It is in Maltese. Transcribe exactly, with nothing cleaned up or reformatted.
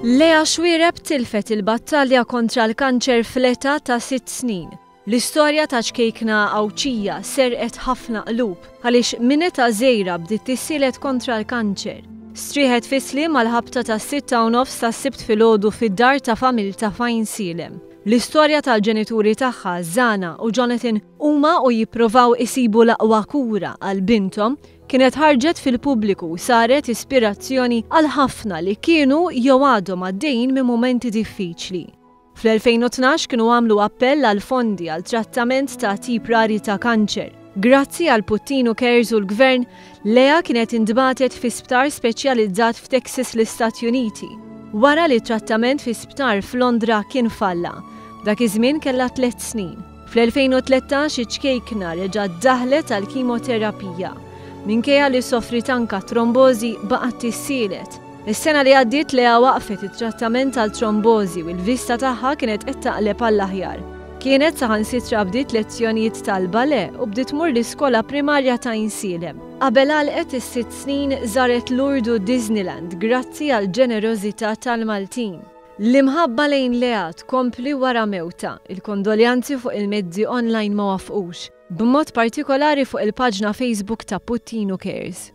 Lea Xuereb tilfet il-battalja kontra l-kanċer fl-età ta' sitt snin. L-istorja ta' ċkejkna Għawdxija serqet ħafna qlub għaliex minn età żgħira bdiet tissielet kontra l-kanċer. Strieħet fis-sliem mal-ħabta ta' sitta u nofs tas-Sibt filgħodu fid-dar ta' familtha f'Għajnsielem. L-istorja tal-ġenituri tagħha, Zana u Jonathan, huma u jipprovaw isibu l-aqwa kura għal binthom, kienet ħarġet fil-pubbliku u saret ispirazzjoni għal ħafna li kienu jew għadhom għaddejjin minn mumenti diffiċli. Fl-elfejn u tnax kienu għamlu appell għal fondi għal trattament ta' tip rari ta' kanċer. Grazzi għal Puttinu Cares u l-Gvern, Lea kienet intbagħtet fi sptar speċjalizzat f'Texas l-Istati Uniti, wara li trattament fi sptar f'Londra kien falla. Dak iż-żmien kellha tliet snin. Fl-elfejn u tlettax iċ-ċkejkna reġgħet daħlet għal kimoterapija. Minkejja li soffrit anka trombożi baqgħet tissielet. Is-sena li għaddiet Lea waqfet it-trattament għal trombożi u l-vista tagħha kienet qed taqleb għall-aħjar. Kienet saħansitra bdiet lezzjonijiet tal-ballet u bdiet tmur l-iskola primarja ta' Għajnsielem. Qabel għalqet is-sitt snin żaret Lourdes u Disneyland grazzi għal ġenerożità tal-Maltin. L-imħabba lejn Lea tkompli wara mewta, il-kondoljanzi fuq il-mezzi online ma wafqux, b'mod partikolari fuq il-paġna Facebook ta' Puttinu Cares.